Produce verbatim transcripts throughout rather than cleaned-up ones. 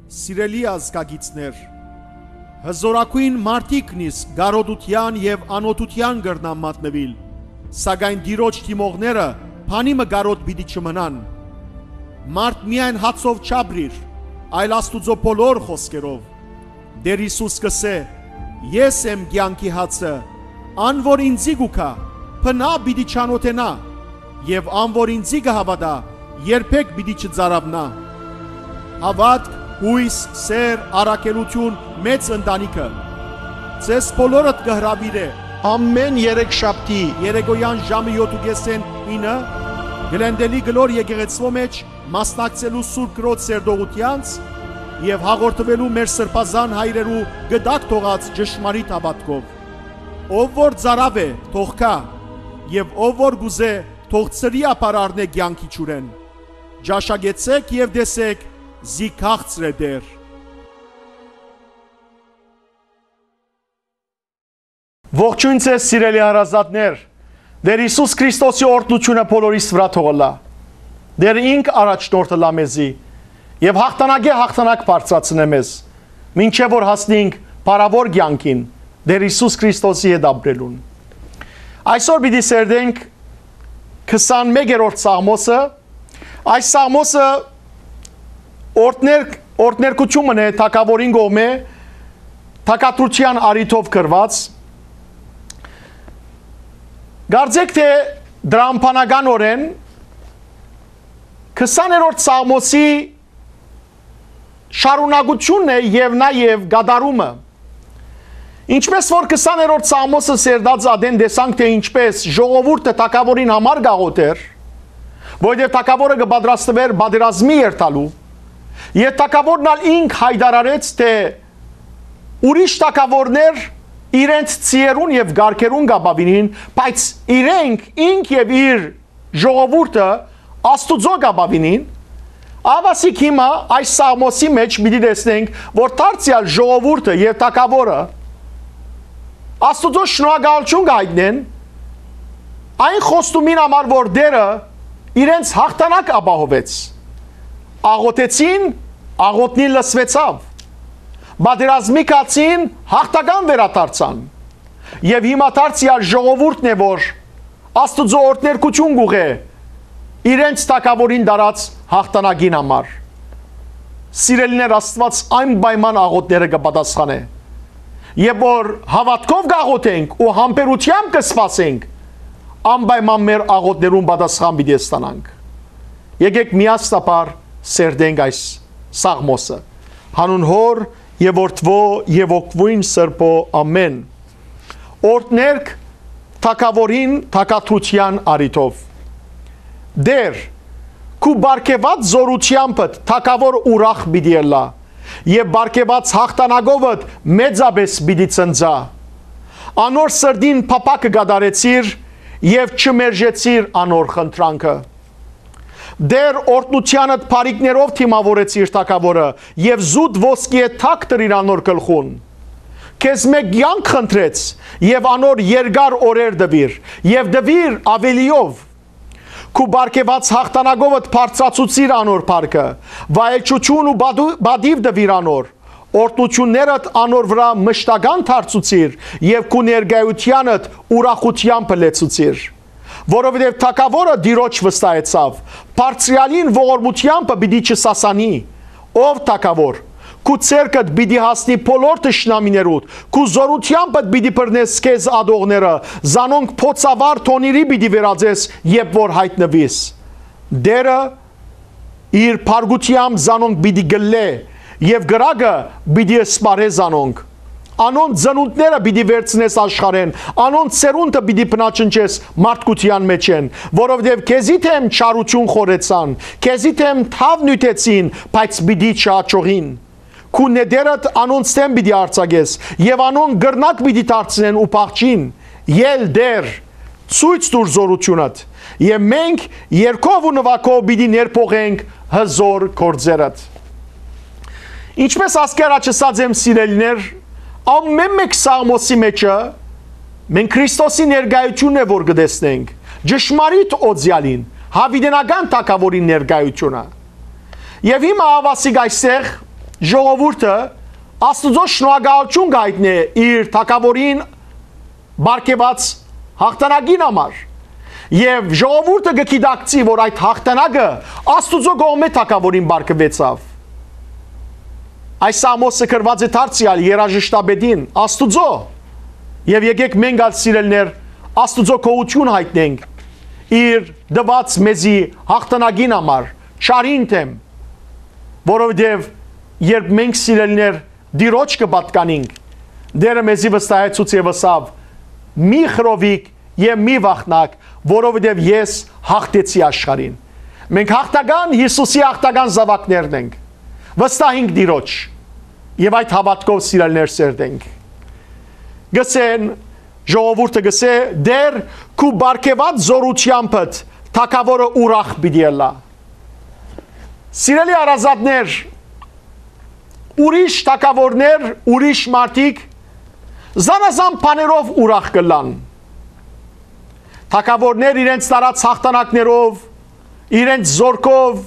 Սիրելի ազգագիցներ, հզորագոյն մարդիկն իսկ կարօտութեան եւ անօթութեան կրնան մատնուիլ, սակայն Տիրոջ դիմողները բանի մը կարօտ պիտի չմնան։ Մարդ միայն հացով չապրիր, այլ Աստուծոյ բոլոր խօսքերով։ Տէր Յիսուս կ'ըսէ. «Ես եմ կեանքի հացը, ան որ ինծի կու գայ, բնաւ պիտի չանօթենայ, եւ ան որ ինծի կը հաւատայ, երբեք պիտի չծարաւնայ»։ Հաւատք, յոյս, սէր, առաքելութիւն, մեծ ընտանիքը ձեզ բոլորդ կը հրաւիրէ։ Ամէն երեքշաբթի երեկոյեան ժամը յոթ ու կէսէն ինը Գլենդելի կլոր եկեղեցւոյ մէջ մասնակցելու Սուրբ Կրոջ սերտողութեանց եւ հաղորդուելու մեր սրբազան հայրերու կտակ թողած ճշմարիտ հաւատքով։ Ով որ ծարաւ է, թող գայ, եւ ով որ կ'ուզէ, թող ծրի ապար առնէ կեանքի ջուրէն։ Ճաշակեցէք եւ տեսէք, զի քաղցր է Տէր։ Ողջոյն ձեզ, սիրելի հարազատներ։ Տէր Յիսուս Քրիստոսի օրհնութիւնը բոլորիս վրայ թող ըլլայ։ Տէր ինք առաջնորդ ըլլայ մեզի եւ յաղթանակէ յաղթանակ բարձրացնէ մեզ, մինչեւ որ հասնենք փառաւոր կեանքին, Տէր Յիսուս Քրիստոսի հետ ապրելուն։ Այսօր պիտի սերտենք քսանմեկերորդ Սաղմոսը։ Այս Սաղմոսը օրհներ-, օրհներկութիւն մըն է թագաւորին կողմէ թագադրութեան առիթով գրուած։ Կարծէք թէ տրամաբանականօրէն քսաներորդ Սաղմոսի շարունակութիւնն է եւ նաեւ կատարումը։ Ինչպէս որ քսաներորդ Սաղմոսը սերտած ատեն տեսանք թէ ինչպէս ժողովուրդը թագաւորին համար կ'աղօթէր, որովհետեւ թագաւորը կը պատրաստուէր պատերազմի երթալու, եւ թագաւորն ալ ինք յայտարարեց թէ ուրիշ թագաւորներ իրենց ձիերուն եւ կառքերուն կ'ապաւինին, բայց իրենք, ինք եւ իր ժողովուրդը Աստուծոյ կ'ապաւինին, ահա ասիկա հիմա այս Սաղմոսի մէջ պիտի տեսնենք, որ դարձեալ ժողովուրդը եւ թագաւորը Աստուծոյ շնորհակալութիւն կ'այտնեն այն խոստումին համար, որ Տէրը իրենց յաղթանակ ապահովեց։ Աղօթեցին, աղօթքին լսուեցաւ։ Պատերազմի գացին, յաղթական վերադարձան։ Եւ հիմա դարձեալ ժողովուրդն է, որ Աստուծոյ օրհներկութիւն կ'ուղղէ իրենց թագաւորին տարած յաղթանակին համար։ Սիրելիներ, Աստուած անպայման աղօթքները կը պատասխանէ։ Երբ որ հաւատքով կ'աղօթենք ու համբերութեամբ կը սպասենք, անպայման մեր աղօթքներուն պատասխան պիտի ստանանք։ Եկէք միասնաբար սերտենք այս Սաղմոսը։ Յանուն Հօր եւ Որդւոյ եւ Հոգւոյն Սրբոյ, ամէն։ Օրհներկ թագաւորին թագադրութեան առիթով։ Տէր, քու պարգեւած զօրութեամբդ թագաւոր ուրախ պիտի ըլլայ, եւ պարգեւած յաղթանակովդ մեծապէս պիտի ցնծայ։ Անոր սրտին փափաքը կատարեցիր եւ չմերժեցիր անոր խնդրանքը։ Տէր, օրհնութեանդ բարիքներով դիմաւորեցիր թագաւորը եւ զուտ ոսկիէ թագ դրիր անոր գլխուն։ Քեզմէ կեանք խնդրեց եւ անոր երկար օրեր տուիր եւ տուիր աւելիով։ Քու պարգեւած յաղթանակովդ բարձրացուցիր անոր փառքը, վայելչութիւն ու պատու-, պատիւ տուիր անոր։ Օրհնութիւններդ անոր վրայ մշտական դարձուցիր եւ քու ներկայութեանդ ուրախութեամբը լեցուցիր։ Որովհետեւ թագաւորը Տիրոջ վստահեցաւ, Բարձրեալին ողորմութեամբը պիտի չսասանի։ Ով թագաւոր, քու ձեռքդ պիտի հասնի բոլոր թշնամիներուդ, քու զօրութեամբդ պիտի բռնես քեզ ատողները, զանոնք բոցավառ թոնիրի պիտի վերածես, երբ որ յայտնուիս։ Տէրը իր փառքութեամբ զանոնք պիտի կլլէ եւ կրակը պիտի սպառէ զանոնք։ Անոնց ծնունդները պիտի վերցնես աշխարհէն, անոնց սերունդը պիտի բնաջնջես մարդկութեան մէջէն, որովհետեւ քեզի դէմ չարութիւն խորհեցան, քեզի դէմ թաւ նիւթեցին, բայց պիտի չհաջողին։ Քու նետերդ անոնց դէմ պիտի արձակես եւ անոնք կռնակ պիտի դարձնեն ու փախչին։ Ել Տէր, ցոյց տուր զօրութիւնդ, եւ մենք երգով ու նուագով պիտի ներփոխենք հզօր գործերդ։ Ինչպէս ասկի առաջ ըսած եմ, սիրելիներ, ամէն մէկ Սաղմոսի մէջը մենք Քրիստոսի ներկայութիւնն է, որ կը տեսնենք, ճշմարիտ օծեալին, յաւիտենական թագաւորին ներկայութիւնը։ Եւ հիմա ահա ասիկա այստեղ Ժողովուրդը Աստուծոյ շնորհակալութիւն կ'այտնէ իր թագաւորին պարգեւած յաղթանակին համար։ Եւ ժողովուրդը կը գիտակցի, որ այդ յաղթանակը Աստուծոյ կողմէ թագաւորին պարգեւեցաւ։ Այս Ամոսը գրուած է դարձեալ երաժշտապետին, Աստուծոյ։ Եւ եկեք մենք ալ, սիրելիներ, Աստուծոյ գոհութիւն յայտնենք իր տուած մեզի յաղթանակին համար, չարին դէմ, որովհետեւ երբ մենք, սիրելիներ, Տիրոջ կը պատկանինք, Տէրը մեզի վստահեցուց եւ ըսաւ. «Մի խռովիք եւ մի վախնաք, որովհետեւ ես յաղթեցի աշխարհին»։ Մենք յաղթական, Յիսուսի յաղթական զաւակներն ենք։ Վստահինք Տիրոջ եւ այդ հաւատքով, սիրելիներ, սերտենք։ Գսեն, ժողովուրդը գսէ. «Տէր, քու պարգեւած զօրութեամբդ թագաւորը ուրախ պիտի ըլլայ»։ Սիրելի հարազատներ, ուրիշ թագաւորներ, ուրիշ մարդիկ զանազան բաներով ուրախ կ'ըլլան։ Թագաւորներ իրենց տարած յաղթանակներով, իրենց զօրքով,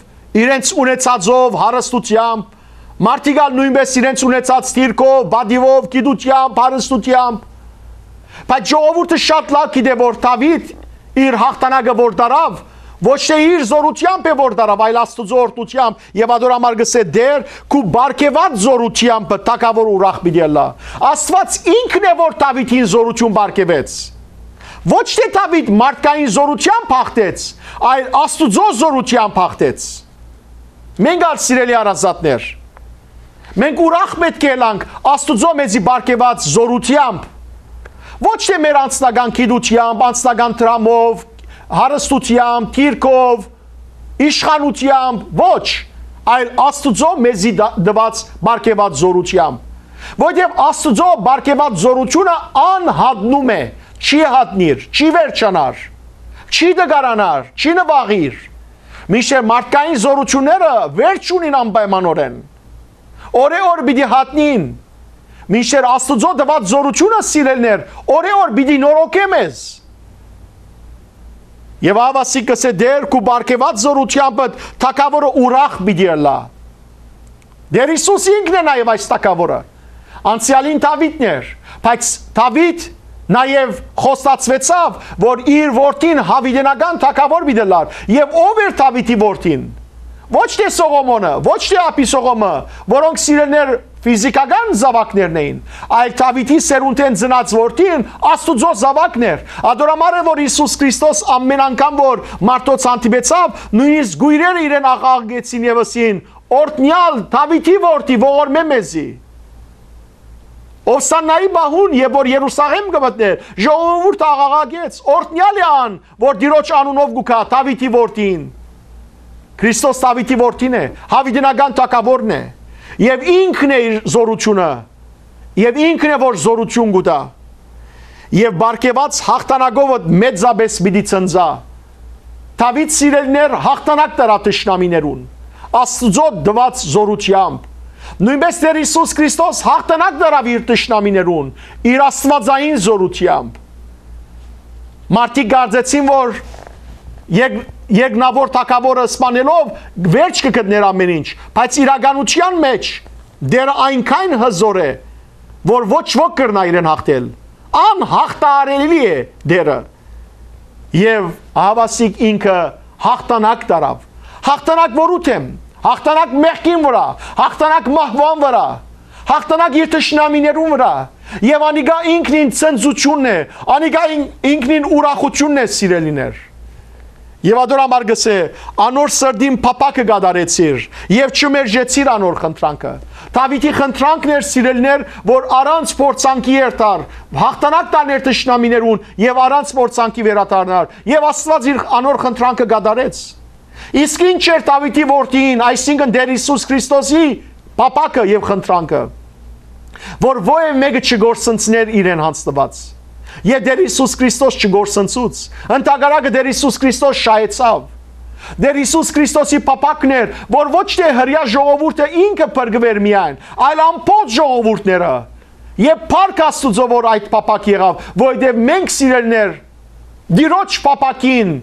իրենց ունեցածով, հարստութեամբ, մարդիկ ալ նոյնպէս իրենց ունեցած դիրքով, պատիւով, գիտութեամբ, հարստութեամբ։ Բայց ժողովուրդը շատ լաւ գիտէ, որ Դաւիթ իր յաղթանակը որ տարաւ, ոչ թէ իր զօրութեամբ է որ տարաւ, այլ Աստուծոյ օրհնութեամբ, եւ ատոր համար գսէ. «Տէր, քու պարգեւած զօրութեամբդ թագաւոր ուրախ պիտի ըլլայ»։ Աստուած ինքն է, որ Դաւիթին զօրութիւն պարգեւեց։ Ոչ թէ Դաւիթ մարդկային զօրութեամբ յաղթեց, այլ Աստուծոյ զօրութեամբ յաղթեց։ Մենք ալ, սիրելի հարազատներ, մենք ուրախ պէտք է ըլլանք Աստուծոյ մեզի պարգեւած զօրութեամբ, ոչ թէ մեր անձնական գիտութեամբ, անձնական դրամով, հարստութեամբ, դիրքով, իշխանութեամբ, ոչ, այլ Աստուծոյ մեզի դա-, տուած պարգեւած զօրութեամբ։ Որովհետեւ Աստուծոյ պարգեւած զօրութիւնը անհատնում է, չի հատնիր, չի վերջանար, չի տկարանար, չի նուաղիր։ Մինչդեռ մարդկային զօրութիւնները վերջ ունին անպայմանօրէն։ Օրէ օր պիտի հատնին, մինչդեռ Աստուծոյ տուած զօրութիւնը, սիրելիներ, օրէ օր պիտի նորոգէ մեզ։ Եւ ահա ասիկա կ'ըսէ. «Տէր, քու պարգեւած զօրութեամբդ թագաւորը ուրախ պիտի ըլլայ»։ Տէր Յիսուս ինքն է նաեւ այս թագաւորը։ Անցեալին Դաւիթն էր, բայց Դաւիթ նաեւ խոստացուեցաւ, որ իր որդին յաւիտենական թագաւոր պիտի ըլլար։ Եւ ո՞վ էր Դաւիթի որդին։ Ոչ թէ Սողոմոնը, ոչ թէ Աբիսողոմը, որոնք, սիրելիներ, ֆիզիքական զաւակներն էին, այլ Դաւիթի սերունդէն ծնած որդին Աստուծոյ զաւակն էր։ Ատոր համար է, որ Յիսուս Քրիստոս ամէն անգամ, որ մարդոց հանդիպեցաւ, նոյնիսկ կոյրերը իրեն աղաղակեցին եւ ըսին. «Օրհնեալ Դաւիթի որդի, ողորմէ մեզի»։ Ովսաննայի պահուն, երբ որ Երուսաղէմ կը մտնէր, ժողովուրդը աղաղակեց. «Օրհնեալ է ան, որ Տիրոջ անունով կու գայ, Դաւիթի որդին»։ Քրիստոս Դաւիթի որդին է, յաւիտենական թագաւորն է, եւ ինքն է իր զօրութիւնը, եւ ինքն է, որ զօրութիւն կու տայ։ Եւ պարգեւած յաղթանակովդ մեծապէս պիտի ցնծայ։ Դաւիթ, սիրելիներ, յաղթանակ տարաւ թշնամիներուն, Աստուծոյ տուած զօրութեամբ։ Նոյնպէս Տէր Յիսուս Քրիստոս յաղթանակ տարաւ իր թշնամիներուն, իր աստուածային զօրութեամբ։ Մարդիկ կարծեցին, որ եք-, երկնաւոր թագաւորը սպանելով վերջ կը գտներ ամէն ինչ, բայց իրականութեան մէջ Տէրը այնքան հզօր է, որ ոչ ոք կրնայ իրեն յաղթել։ Անյաղթահարելի է Տէրը։ Եւ ահաւասիկ ինքը յաղթանակ տարաւ։ Յաղթանակ որու դէմ, յաղթանակ մեղքին վրայ, յաղթանակ մահուան վրայ, յաղթանակ իր թշնամիներուն վրայ։ Եւ անիկա ինքնին ցնծութիւնն է, անիկա ին-, ինքնին ուրախութիւնն է, սիրելիներ։ Եւ ատոր համար գսէ. «Անոր սրտին փափաքը կատարեցիր եւ չմերժեցիր անոր խնդրանքը»։ Դաւիթի խնդրանքն էր, սիրելիներ, որ առանց փորձանքի երթար, յաղթանակ տանէր թշնամիներուն եւ առանց փորձանքի վերադառնար, եւ Աստուած իր անոր խնդրանքը կատարեց։ Իսկ ինչ էր Դաւիթի որդին, այսինքն Տէր Յիսուս Քրիստոսի փափաքը եւ խնդրանքը, որ ովեւ մէկը չկորսնցներ իրեն յանձնուած։ Եւ Տէր Յիսուս Քրիստոս չկորսնցուց, ընդհակառակը Տէր Յիսուս Քրիստոս շահեցաւ։ Տէր Յիսուս Քրիստոսի փափակն էր, որ ոչ թէ հրեայ ժողովուրդը ինքը փրկուէր միայն, այլ ամբողջ ժողովուրդները։ Եւ փառք Աստուծոյ, որ այդ փափաք եղաւ, որովհետեւ մենք, սիրելիներ, Տիրոջ փափաքին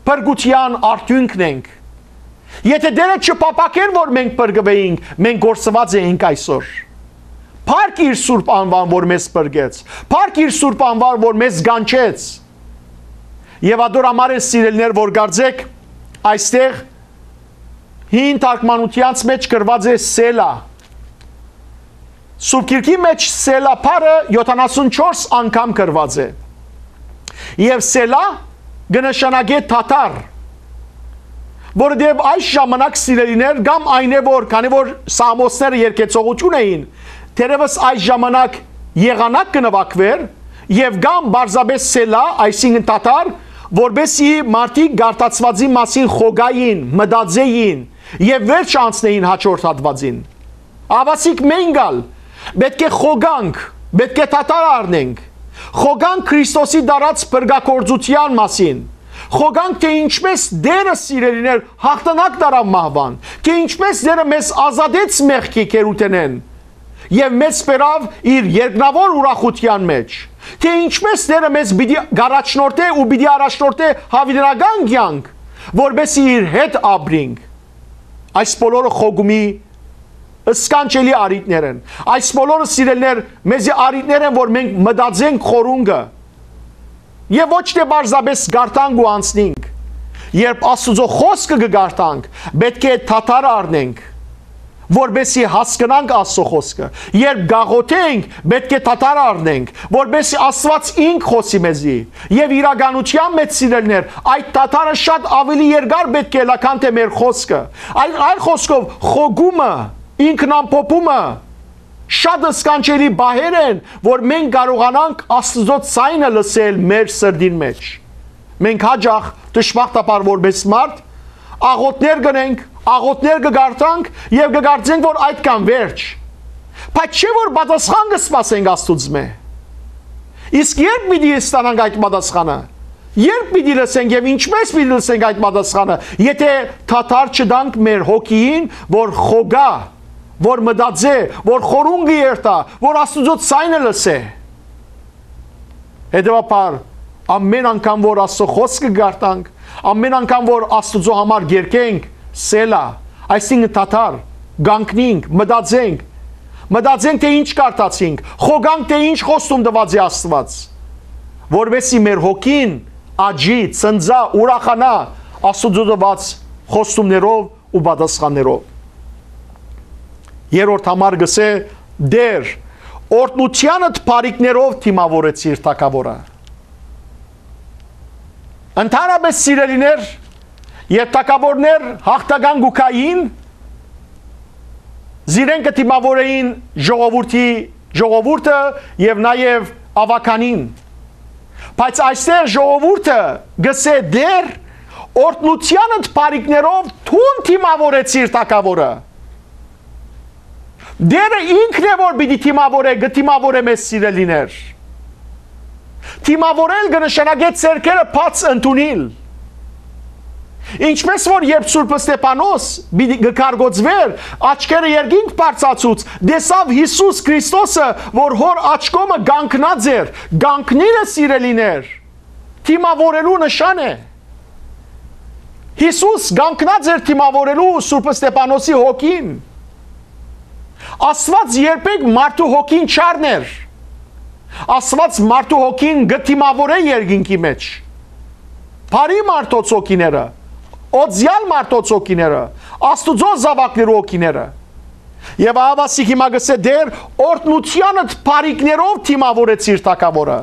փրկութեան արդիւնքն ենք։ Եթէ Տէրը չփափաքէր որ մենք փրկուէինք, մենք կորսուած էինք այսօր։ Փառք իր սուրբ անուան որ մեզ փրկեց, փառք իր սուրբ անուան որ մեզ կանչեց։ Եւ ատոր համար են, սիրելիներ, որ կարծեք, այստեղ հին թարգմանութեանց մէջ գրուած է Սելա։ Սուրբ Գիրքի մէջ Սելա բառը յոթանասուն չորս անգամ գրուած է։ Եւ Սելա կը նշանակէ թաթար, որովհետեւ այս ժամանակ, սիրելիներ, կամ այն է որ, քանի որ սաղմոսները երգեցողութիւն էին, թերեւս այս ժամանակ եղանակ կը նուագուէր, եւ կամ պարզապէս Սելա, այսինքն թաթար, որպեսզի մարդիկ գարթացուածին մասին խոգային, մտածեին եւ վերջ անցնեին հաջորդ հատուածին։ Ահաւասիկ մենք ալ պէտք է խոգանք, պէտք է թաթար առնենք, խոգանք Քրիստոսի դարած փրկագործութեան մասին, խոգանք, թէ ինչպէս Տէրը, սիրելիներ, յաղթանակ տարաւ մահուան, թէ ինչպէս Տէրը մեզ ազատեց մեղքի գերութենէն եւ մեզ բերաւ իր երկնաւոր ուրախութեան մէջ, թէ ինչպէս Տէրը մեզ պիտի կառաջնորդէ ու պիտի առաջնորդէ յաւիտենական կեանք, որպեսզի իր հետ ապրինք։ Այս բոլորը խոգումի սքանչելի առիթներ են։ Այս բոլորը, սիրելիներ, մեզի առիթներ են, որ մենք մտածենք խորունկը եւ ոչ թէ պարզապէս գարթանք ու անցնենք։ Երբ Աստուծոյ խօսքը կը գարթանք, պէտք է թաթար առնենք, որպեսզի հասկնանք Աստուծոյ խօսքը։ Երբ գաղութենք, պէտք է թաթար առնենք, որպեսզի Աստուած ինք խօսի մեզի։ Եւ իրականութեան մէջ, սիրելիներ, այդ թաթարը շատ աւելի երկար պէտք է ըլլայ, քան թէ մեր խօսքը։ Այլ, այլ խօսքով, խոգումը, ինքնամփոփումը շատ սքանչելի պահեր են, որ մենք կարողանանք Աստուծոյ ձայնը լսել մեր սրտին մէջ։ Մենք յաճախ, դժբախտաբար, որպէս մարդ, աղօթքներ կ'ընենք, աղօթքներ կը կարդանք եւ կը կարծենք, որ այդքան վերջ։ Բայց չէ՞ որ պատասխան կը սպասենք Աստուծմէ։ Իսկ ե՞րբ պիտի ստանանք այդ պատասխանը։ Ե՞րբ պիտի լսենք եւ ինչպէ՞ս պիտի լսենք այդ պատասխանը, եթէ թաթար չտանք մեր հոգիին, որ խոգայ, որ մտածէ, որ խորունկը երթայ, որ Աստուծոյ ձայնը լսէ։ Հետեւաբար, ամէն անգամ որ Աստուծոյ խօսքը կարդանք, ամէն անգամ որ Աստուծոյ համար կերգենք, Սելա, այսինքն թաթար, կանգնենք, մտածենք, մտածենք, թէ ինչ կարդացինք, խոգանք, թէ ինչ խոստում տուած է Աստուած, որպեսզի մեր հոգին աճի, ցնծայ, ուրախանայ Աստուծոյ տուած խոստումներով ու պատասխաններով։ Երրորդ համար կ'ըսէ. «Տէր, օրհնութեանդ բարիքներով դիմաւորեցիր թագաւորը»։ Ընդհանրապէս, սիրելիներ, երբ թագաւորներ յաղթական կու գային, զիրենք կը դիմաւորէին ժողովուրդի, ժողովուրդը եւ նաեւ աւագանին։ Բայց այստեղ ժողովուրդը կ'ըսէ. «Տէր, օրհնութեանդ բարիքներով դուն դիմաւորեցիր թագաւորը»։ Տէրը ինքն է, որ պիտի դիմաւորէ, կը դիմաւորէ մեզ, սիրելիներ։ Դիմաւորել կը նշանակէ ձեռքերը բաց ընդունիլ։ Ինչպէս որ երբ Սուրբ Ստեփանոս պիտի կը կարգոծուէր, աչքերը երկինք բարձացուց, տեսաւ Յիսուս Քրիստոսը, որ հոր աչքոմը կանգնած էր, կանգնիլը, սիրելիներ, դիմաւորելու նշան է։ Յիսուս կանգնած էր դիմաւորելու Սուրբ Ստեփանոսի հոգին։ Աստուած երբեք մարդու հոգին չառներ։ Աստուած մարդու հոգին կը դիմաւորէ երկինքի մէջ։ Բարի մարդոց հոգիները, օծեալ մարդոց հոգիները, Աստուծոյ զաւակներու հոգիները։ Եւ ահա ասիկ հիմա կ'ըսէ. «Տէր, օրհնութեանդ բարիքներով դիմաւորեցիր թագաւորը»։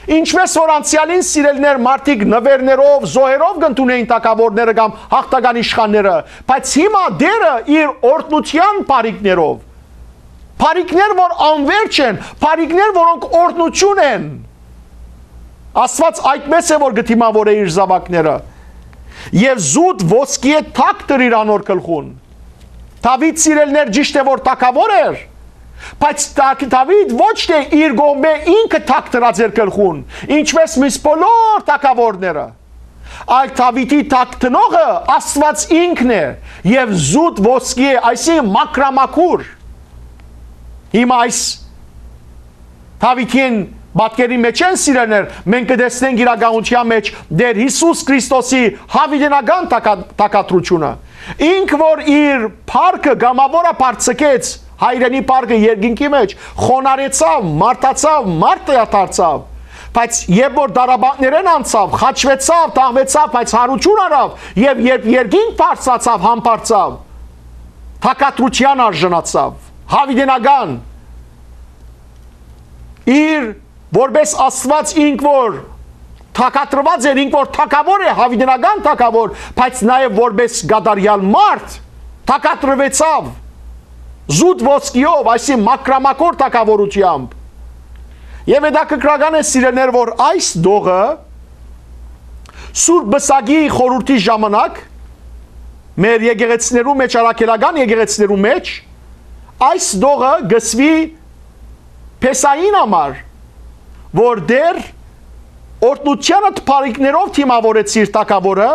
Ինչպէս որ անցեալին, սիրելիներ, մարդիկ նուէրներով, զոհերով կ'ընդունէին թագաւորները կամ յաղթական իշխանները, բայց հիմա Տէրը իր օրհնութեան բարիքներով, բարիքներ, որ անվերջ են, բարիքներ, որոնք օրհնութիւն են, Աստուած այդպէս է, որ կը դիմաւորէ իր զաւակները։ Եւ զուտ ոսկիէ թագ դրիր անոր գլխուն։ Դաւիթ, սիրելիներ, ճիշդ է, որ թագաւոր էր, բայց Դա-, Դաւիթ ոչ թէ իր կողմէ ինքը թագ դրած էր գլխուն, ինչպէս միս բոլոր թագաւորները, այլ Դաւիթի թագ դնողը Աստուած ինքն է, եւ զուտ ոսկի է, այսինքն՝ մաքրամաքուր։ Հիմա այս Դաւիթին պատկերի մէջ են, սիրելիներ, մենք կը տեսնենք իրականության մէջ Տէր Յիսուս Քրիստոսի յաւիտենական թագա-, թագադրությունը։ Ինք որ իր փառքը կամաւոր ա բարձկեց հայրենի փառքը երկինքի մեջ, խոնարհեցաւ, մարդացաւ, մարդը դարձաւ, բայց երբ որ դարաբաններէն անցաւ, խաչուեցաւ, թաղուեցաւ, բայց յարութիւն առաւ, եւ երբ երկինք բարձրացաւ, համբարձաւ, թակադրութեան արժանացաւ, հավիտենական, իր որպէս Աստուած ինք որ թակադրուած էր, ինք որ թագաւոր է, հավիտենական թագաւոր, բայց նաեւ որպէս կատարեալ մարդ, թակադրուեցաւ զուտ ոսկիով, այսինքն՝ մակրամակոր թագաւորութեամբ։ Եւ հետաքրքրական է, սիրելիներ, որ այս դողը Սուրբ Պսակի խորհուրդի ժամանակ մեր եկեղեցիներու մեջ, առաքելական եկեղեցիներու մեջ, այս դողը կսուի Փեսային համար, որ Տէր, օրհնութեանդ բարիքներով դիմաւորեցիր թագաւորը,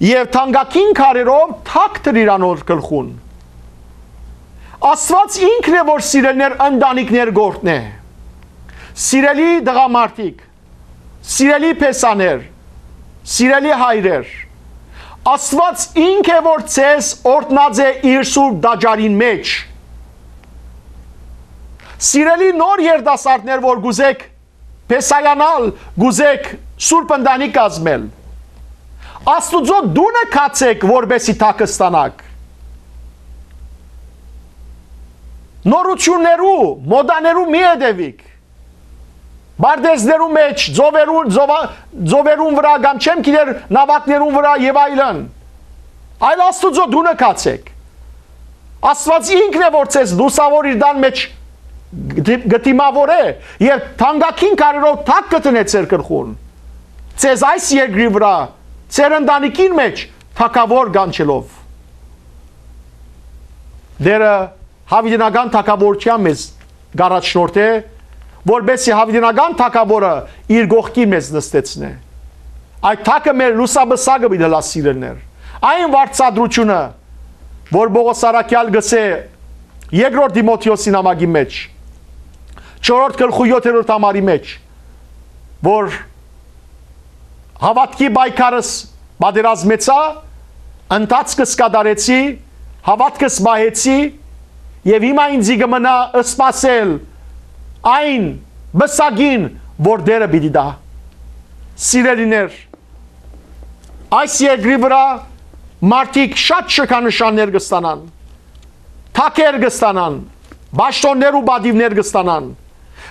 եւ թանկագին քարերով թագ դրիր անոր գլխուն։ Աստուած ինքն է, որ, սիրելիներ, ընտանիքներ կ'օրհնէ։ Սիրելի տղամարդիկ, սիրելի փեսաներ, սիրելի հայրեր, Աստուած ինք է, որ ձեզ օրհնած է իր սուրբ տաճարին մեջ։ Սիրելի նոր երիտասարդներ, որ կ'ուզէք փեսայանալ, կ'ուզէք սուրբ ընտանիք կազմել, Աստուծոյ տունը գացէք, որպէսի թագ ստանաք։ Նորութիւններու, մոդաներու մի հետեւիք։ Պարտէզներու մեջ, ծովերուն, ծովա-, ծովերուն վրայ կամ չեմ գիտեր նաւակներուն վրայ եւ այլն։ Այլ Աստուծոյ տունը գացէք։ Աստուած ինքն է, որ ձեզ լուսաւոր իր տան մեջ կդի-, կդիմաւորէ եւ թանկագին քարերով թագ կդնէ ձեր գլխուն։ Ձեզ այս երկրի վրայ, ձեր ընտանիքին մեջ թագաւոր կանչելով։ Տէրը հավիտենական թագաւորութեան մեզ կ'առաջնորդէ, որպէսի հավիտենական թագաւորը իր կողքին մեզ նստեցնէ։ Այդ թագը մեր լուսապսակը պիտի ըլլայ, սիրելիներ։ Այն վարձատրութիւնը, որ Պողոս առաքեալ կ'ըսէ երկրորդ Տիմոթէոսի նամակի մեջ, չորրորդ գլխու յոթերորդ համարի մեջ, որ հաւատքի պայքարս պատերազմեցայ, ընթացքս կատարեցի, հաւատքս պահեցի, եւ հիմա ինծի կը մնայ սպասել այն պսակին, որ Տէրը պիտի տայ։ Սիրելիներ, այս երկրի վրայ մարդիկ շատ շքանշաններ կը ստանան, թագեր կը ստանան, պաշտօններ ու պատիւներ կը ստանան,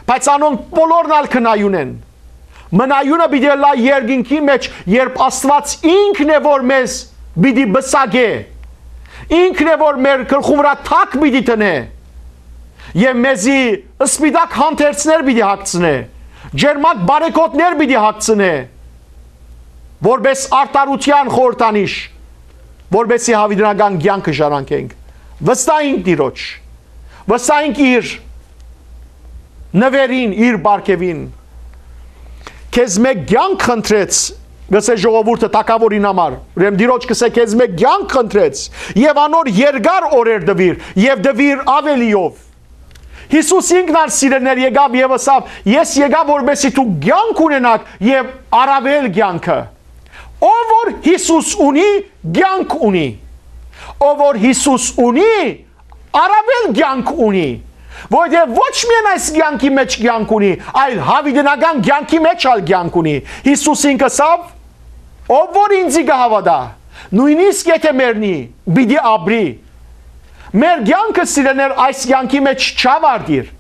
բայց անոնք բոլորն ալ կը մնան։ Մնայունը պիտի ըլլայ երկինքի մեջ, երբ Աստուած ինքն է, որ մեզ պիտի պսակէ, ինքն է, որ մեր գլխու վրայ թագ պիտի դնէ եւ մեզի սպիտակ հանդերձներ պիտի հագցնէ, ջերմակ բարեգօտներ պիտի հագցնէ, որպէս արդարութեան խորհրդանիշ, որպէսի հավիտենական կեանքը ժառանգենք։ Վստահ ենք Տիրոջ, վստահ ենք իր նուէրին, իր պարգեւին։ «Քեզ մէկ կեանք խնդրեց», կ'ըսէ ժողովուրդը թագաւորին համար։ Ուրեմն Տիրոջ կ'ըսէ. «Քեզ մէկ կեանք խնդրեց եւ անոր երկար օրեր տուիր եւ տուիր աւելիով»։ Յիսուս ինքն ալ, սիրելիներ, եկաւ եւ ըսաւ. «Ես եկայ, որպէսզի դուք կեանք ունենաք եւ առաւել կեանքը»։ Ով որ Յիսուս ունի, կեանք ունի։ Ով որ Յիսուս ունի, առաւել կեանք ունի, որովհետեւ ոչ միայն այս կեանքի մեջ կեանք ունի, այլ հավիտենական կեանքի մեջ ալ կեանք ունի։ Յիսուս ինք ըսաւ. «Ով որ ինծի կը հաւատայ, նոյնիսկ եթէ մեռնի, պիտի ապրի»։ Մեր կեանքը, սիրելիներ, այս կեանքի մեջ չավարտիր։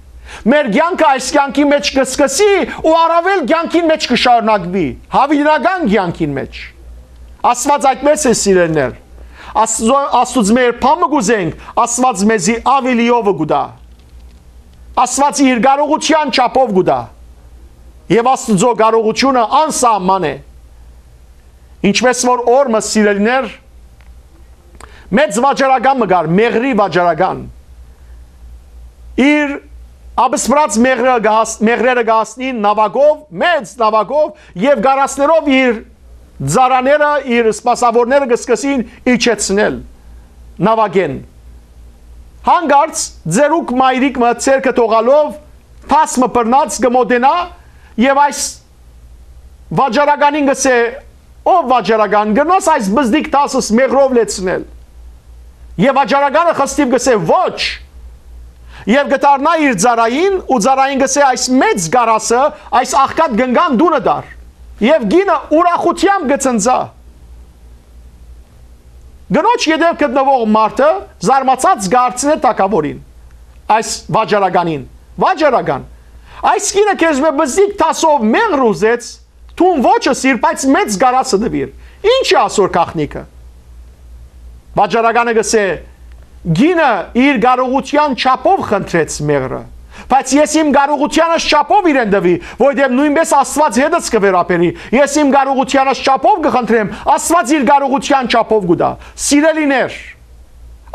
Մեր կեանքը այս կեանքի մեջ կը սկսի ու առաւել կեանքին մեջ կը շարունակուի, հավիտենական կեանքին մեջ։ Աստուած այդպես է, սիրելիներ։ Աստուծո-, Աստուծմէ երբ բան մը կ'ուզենք, Աստուած մեզի աւելիովը կու տայ։ Աստուած իր կարողութեան չափով կու տայ։ Եւ Աստուծոյ կարողութիւնը անսահման է։ Ինչպես որ օր մը, սիրելիներ, մեծ վաճառական մը կար, մեղրի վաճառական։ Իր ապսպրած մեղրը կը հաս-, մեղրերը կը հասնին նաւակով, մեծ նաւակով, եւ գարասներով իր ծառաները, իր սպասաւորները կը սկսին իջեցնել նաւակէն։ Հանկարծ ծերուկ մայրիկ մը ձեռքը թողալով, թաս մը բռնած կը մոտենայ եւ այս վաճառականին կ'ըսէ. «Ով վաճառական, կրնա՞ս այս բզդիկ թասս մեղրով լեցնել»։ Եւ վաճառականը խստիւ կ'ըսէ՝ «Ոչ»։ Եւ կը դառնայ իր ծառային ու ծառային կ'ըսէ՝ «Այս մեծ կարասը, այս աղքատ կնկան դունը տար»։ Եւ կինը ուրախութեամբ կը ցնծայ։ Կնոջ ետեւ գտնուող մարդը զարմացած կը հարցնէ թագաւորին, այս վաճառականին. «Վաճառական, այս կինը քեզմէ բզդիկ դասով մեղր ուզեց, դուն ոչ ըսիր, բայց մեծ կարասը տուիր։ Ի՞նչ է ասոր գաղտնիքը»։ Վաճառականը կ'ըսէ. «Կինը իր կարողութեան չափով խնդրեց մեղրը, բայց ես իմ կարողութեանս չափով իրեն տուի, որովհետեւ նոյնպէս Աստուած հետս կը վերաբերի։ Ես իմ կարողութեանս չափով կը խնդրեմ, Աստուած իր կարողութեան չափով կու տայ»։ Սիրելիներ,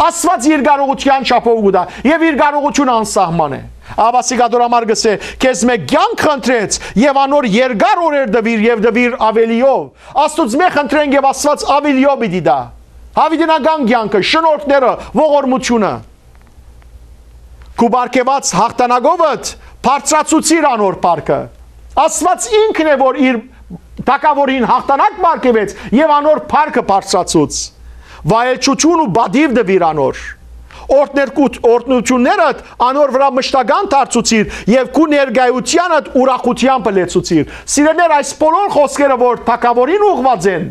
Աստուած իր կարողութեան չափով կու տայ, եւ իր կարողութիւնը անսահման է։ Աբասիկ ադոր համար կ'ըսէ. «Քեզմէ կեանք խնդրեց, եւ անոր երկար օրեր տուիր, եւ տուիր աւելիով»։ Աստուծմէ խնդրենք, եւ Աստուած աւելիով պիտի տայ։ Յաւիտենական կեանքը, շնորհքները, ողորմությունը։ «Քու պարգեւած յաղթանակովդ բարձրացուցիր անոր փառքը»։ Աստուած ինքն է, որ իր թագաւորին յաղթանակ պարգեւեց եւ անոր փառքը բարձրացուց։ «Վայելչութիւն ու պատիւ տուիր անոր»։ Օրհներկու-, օրհնութիւններդ անոր վրայ մշտական դարձուցիր եւ քու ներկայութեանդ ուրախութեամբ լեցուցիր։ Սիրելիներ, այս բոլոր խօսքերը, որ թագաւորին ուղղուած են,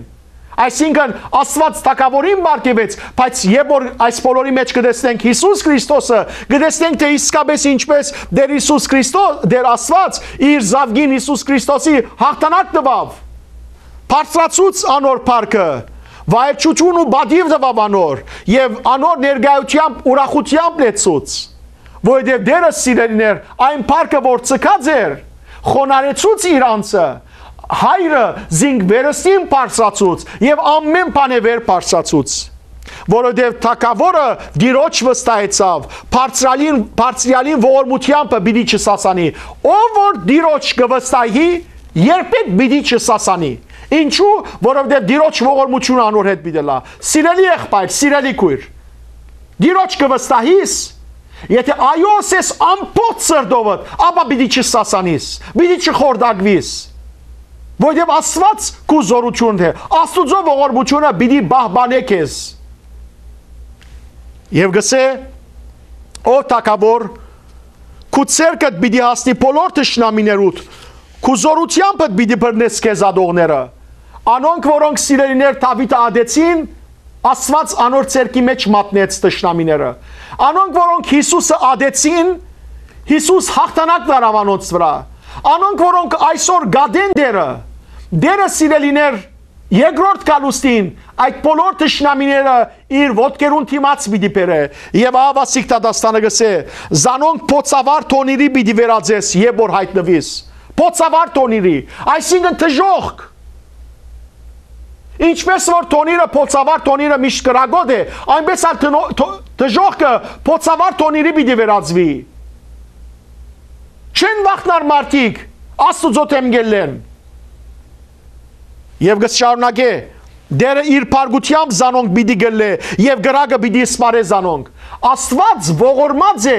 այսինքն Աստուած թագաւորին պարգեւեց, բայց երբ որ այս բոլորի մեջ կը տեսնենք Յիսուս Քրիստոսը, կը տեսնենք, թէ իսկապէս ինչպէս Տէր Յիսուս Քրիստոս, Տէր Աստուած իր զաւկին Յիսուս Քրիստոսի յաղթանակ տուաւ, բարձրացուց անոր փառքը, վայելչութիւն ու պատիւ տուաւ անոր, եւ անոր ներկայութեամբ ուրախութեամբ լեցուց, որովհետեւ Տէրը, սիրելիներ, այն փառքը, որ ձգած էր, խոնարհեցուց իր անձը, Հայրը զինք վերստին բարձրացուց եւ ամէն բանէ վեր բարձրացուց, որովհետեւ թագաւորը Տիրոջ վստահեցաւ, բարձրալին, բարձրյալին ողորմութեամբը պիտի չսասանի։ Ով որ Տիրոջ կը վստահի, երբեք պիտի չսասանի։ Ինչու՞, որովհետեւ Տիրոջ ողորմութիւնը անոր հետ պիտի լա։ Սիրելի եղբայր, սիրելի քոյր, Տիրոջ կը վստահիս, եթէ այո ըսես ամբողջ սրտովդ, ապա պիտի չսասանիս, պիտի չխորտակվիս, որովհետեւ Աստուած քու զօրութիւնդ է, Աստուծոյ ողորմութիւնը պիտի պահպանէ քեզ։ Եւ կ'ըսէ. «Ով թագաւոր, քու ձեռքդ պիտի հասնի բոլոր թշնամիներուդ, քու զօրութեամբդ պիտի բռնես քեզ ատողները»։ Անոնք, որոնք, սիրելիներ, Դաւիթը ատեցին, Աստուած անոր ձեռքի մեջ մատնեց թշնամիները։ Անոնք, որոնք Յիսուսը ատեցին, Յիսուս յաղթանակ դարաւ անոնց վրայ։ Անոնք, որոնք այսօր կատեն Տէրը, Տէրը, սիրելիներ, երկրորդ գալուստին այդ բոլոր թշնամիները իր ոտքերուն դիմաց պիտի բերէ։ Եւ ահա Վասիկ դատաստանը կ'ըսէ. «Զանոնք փոցավար թոնիրի պիտի վերածես, երբ որ յայտնուիս»։ Փոցավար թոնիրի, այսինքն դժոխք։ Ինչպես որ թոնիրը, փոցավար թոնիրը միշտ կրակոտ է, այնպես ալ թնո-, թո-, դժոխքը փոցավար թոնիրի պիտի վերածուի։ Չեն վախնար մարդիկ, Աստուծոյ դէմ կ'ելլեն։ Եւ կը շարունակէ. «Տէրը իր փառքութեամբ զանոնք պիտի կլլէ եւ կրակը պիտի սպառէ զանոնք»։ Աստուած ողորմած է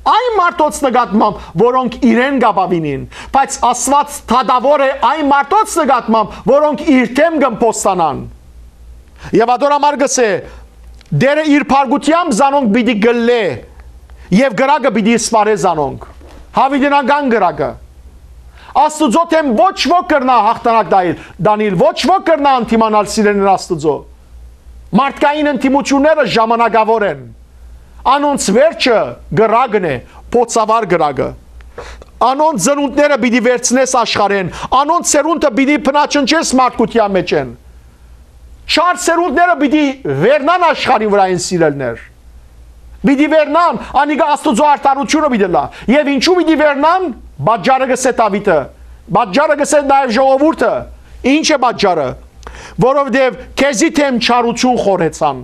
այն մարդոց նկատմամբ, որոնք իրեն կ'ապաւինին, բայց Աստուած դատաւոր է այն մարդոց նկատմամբ, որոնք իր դէմ կ'ըմբոստանան։ Եւ ատոր համար կ'ըսէ. «Տէրը իր փառքութեամբ զանոնք պիտի կլլէ եւ կրակը պիտի սպառէ զանոնք»։ Յաւիտենական կրակը։ Աստուծոյ դէմ ոչ ոք կրնայ յաղթանակ տայլ, տանիլ, ոչ ոք կրնայ ընդդիմանալ, սիրելիներ, Աստուծոյ։ Մարդկային ընդդիմությունները ժամանակաւոր են։ Անոնց վերջը կրակն է, փոցավար կրակը։ Անոնց ծնունդները պիտի վերցնես աշխարհէն, անոնց սերունդը պիտի բնաչնչես մարդկության մեջ են։ Չար սերունդները պիտի վերնան աշխարհի վրայ, սիրելիներ։ Պիտի վերնան, անիկա Աստուծոյ արդարութիւնը պիտի լա։ Եւ ինչու պիտի վերնան, պատճառը կ'ըսէ Դաւիթը, պատճառը կ'ըսէ նաեւ ժողովուրդը։ Ի՞նչ է պատճառը։ «Որովհետեւ քեզի դէմ չարութիւն խորհեցան»։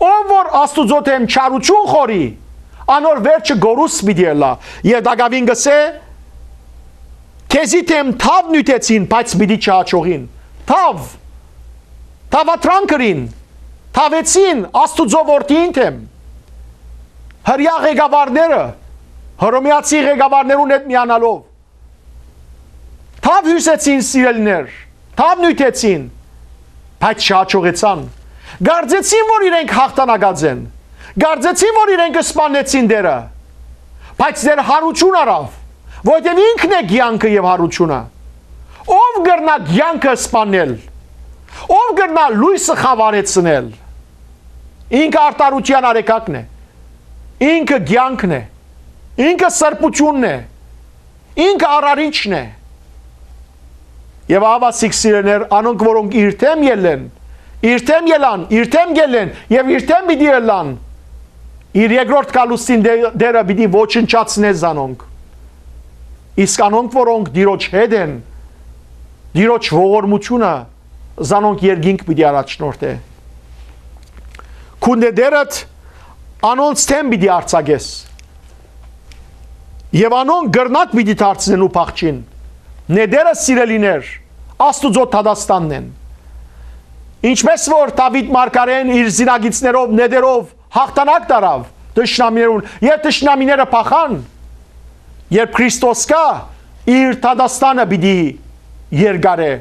Ով որ Աստուծոյ դէմ չարութիւն խորհի, անոր վերջը կորուստ պիտի ըլլայ։ Եւ տակաւին կ'ըսէ. «Քեզի դէմ թաւ նիւթեցին, բայց պիտի չհաջողին»։ Թաւ, թաւադրանք կրին, թաւեցին Աստուծոյ որդիին դէմ։ Հրեայ ղեկավարները, հռոմեացի ղեկավարներուն հետ միանալով, թաւ հիւսեցին, սիրելիներ, թաւ նիւթեցին, բայց չհաջողեցան։ Կարծեցին, որ իրենք հաղթանակած են։ Կարծեցին, որ իրենք սպաննեցին Տերը։ Բայց Տէր յարութիւն առաւ, որովհետեւ ինքն է կեանքը եւ յարութիւնը։ Ո՞վ կրնայ կեանքը սպաննել, ո՞վ կրնայ լոյսը խաւարեցնել։ Ինքը արդարութեան արեգակն է, ինքը կեանքն է, ինքը սրբութիւնն է, ինքը արարիչն է։ Եւ ահա սիրելիներ, անոնք, որոնք իր դէմ ելլեն, իր դէմ ելան, իր դէմ ելլեն եւ իր դէմ պիտի ելլան, իր երկրորդ գալուստին Տէ-, Տէրը պիտի ոչնչացնէ զանոնք։ Իսկ անոնք, որոնք Տիրոջ հետ են, Տիրոջ ողորմութիւնը զանոնք երկինք պիտի առաջնորդէ։ Քուն Տէրդ անոնց դէմ պիտի արձակես։ Եւ անոնք կրնակ պիտի դարձնեն ու փախչին։ Նետերը, սիրելիներ, Աստուծոյ դատաստանն են։ Ինչպէս որ Դաւիթ մարգարէն իր զինակիցներով, նետերով հաղթանակ տարաւ թշնամիներուն, եւ թշնամիները փախան, երբ Քրիստոս գայ, իր դատաստանը պիտի երկարէ։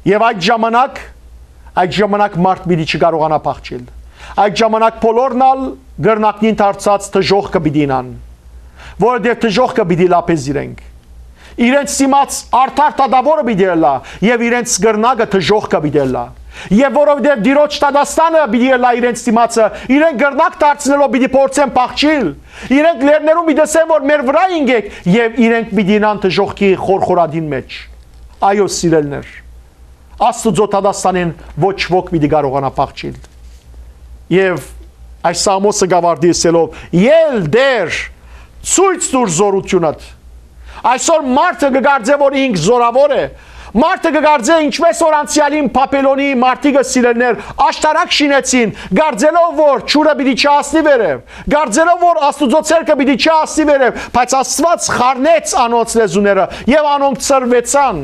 Եւ այդ ժամանակ, այդ ժամանակ մարդ պիտի չկարողանայ փախչիլ։ Այդ ժամանակ բոլորն ալ կրնակնին դարձած դժոխքը պիտի իյնան, որովհետեւ դժոխքը պիտի լափէ զիրենք։ Իրենց դիմաց արդար դատաւորը պիտի ըլլայ եւ իրենց կրնակը դժոխքը պիտի ըլլայ։ Եւ որովհետեւ Տիրոջ դատաստանը պիտի ըլլայ իրենց դիմացը, իրենք կրնակ դարձնելով պիտի փորձեն փախչիլ։ Իրենք լեռներուն պիտի ըսեն, որ մեր վրայ ինկէք, եւ իրենք պիտի իյնան դժոխքի խորխորատին մէջ։ Այո, սիրելիներ, Աստուծոյ դատաստանէն ոչ ոք պիտի կարողանայ փախչիլ։ Եւ այս Սաղմոսը կ'աւարտի ըսելով. «Ել Տէր, ցոյց տուր զօրութիւնդ»։ Այսօր մարդը կը կարծէ, որ ինք զօրաւոր է։ Մարդը կը կարծէ, ինչպէս որ անցեալին Բաբելոնի մարդիկը, սիրելիներ, աշտարակ շինեցին, կարծելով, որ ջուրը պիտի չհասնի վերեւ, կարծելով, որ Աստուծոյ ձեռքը պիտի չհասնի վերեւ, բայց Աստուած խառնեց անոնց լեզուները եւ անոնք ցրուեցան։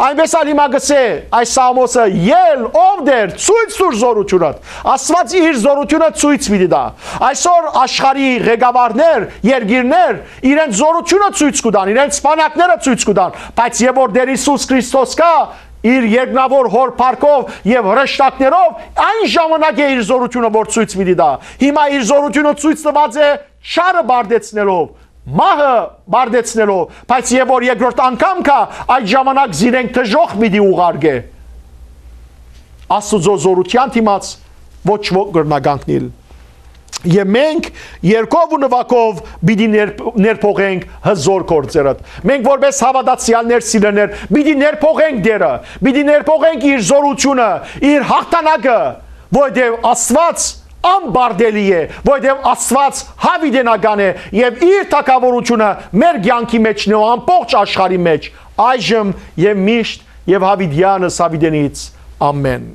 Այնպէս ալ հիմա կ'ըսէ այս Սաղմոսը. «Ել, ով Տէր, ցոյց տուր զօրութիւնդ»։ Աստուած իր զօրութիւնը ցոյց պիտի տայ։ Այսօր աշխարհի ղեկավարներ, երկիրներ իրենց զօրութիւնը ցոյց կու տան, իրենց բանակները ցոյց կու տան, բայց երբ որ Տէր Յիսուս Քրիստոս գայ իր երկնաւոր Հօր փառքով եւ հրեշտակներով, այն ժամանակ է իր զօրութիւնը որ ցոյց պիտի տայ։ Հիմա իր զօրութիւնը ցոյց տուած է չարը պարտեցնելով, մահը պարտեցնելով, բայց երբ որ երկրորդ անգամ գայ, այդ ժամանակ զիրենք դժոխք պիտի ուղարկէ։ Աստուծոյ զօրութեան դիմաց ոչ ոք կրնայ կանգնիլ։ Եւ մենք երգով ու նուագով պիտի ներփ-, ներփոխենք հզօր գործերդ։ Մենք որպէս հաւատացեալներ, սիրելիներ, պիտի ներփոխենք Տէրը, պիտի ներփոխենք իր զօրութիւնը, իր հաղթանակը, որովհետեւ Աստուած անպարտելի է, որովհետեւ Աստուած յաւիտենական է եւ իր թագաւորութիւնը մեր կեանքի մէջ նոյ ամբողջ աշխարհի մէջ, այժմ եւ միշտ եւ յաւիտեանս յաւիտենից։ Ամէն։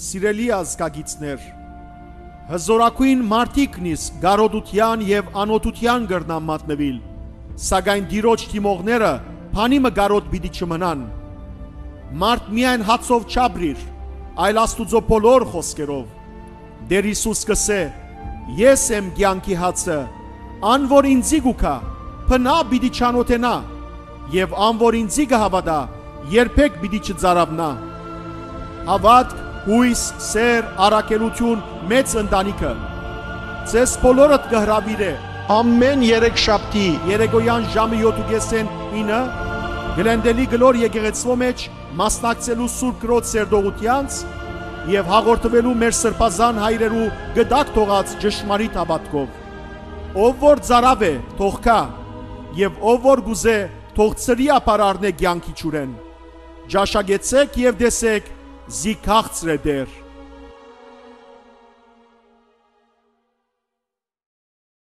Սիրելի ազգագիցներ, հզօրագոյն մարդիկ նիսկ կարօտութեան եւ անօթութեան կրնան մատնուիլ, սակայն Տիրոջ դիմողները բանի մը կարօտ պիտի չմնան։ Մարդ միայն հացով չապրիր, այլ Աստուծոյ բոլոր խօսքերով։ Տէր Յիսուս կ'ըսէ. «Ես եմ կեանքի հացը, ան որ ինծի կու գայ, բնաւ պիտի չանօթենայ, եւ ան որ ինծի կը հաւատայ, երբեք պիտի չծարաւնայ»։ Հաւատք, յոյս, սէր, առաքելութիւն, մեծ ընտանիքը ձեզ բոլորդ կը հրաւիրէ ամէն երեքշաբթի երեկոյեան ժամը յոթ ու կէսէն ինը Գլենդելի կլոր եկեղեցւոյ մէջ մասնակցելու Սուրբ Կրոջ սերտողութեանց եւ հաղորդուելու մեր սրբազան հայրերու կտակ թողած ճշմարիտ հաւատքով։ Ով որ ծարաւ է, թող գայ, եւ ով որ կ'ուզէ, թող ցրի ափ առնէ կեանքի ջուրէն։ Ճաշակեցէք եւ տեսէք, զի քաղցր է Տէր։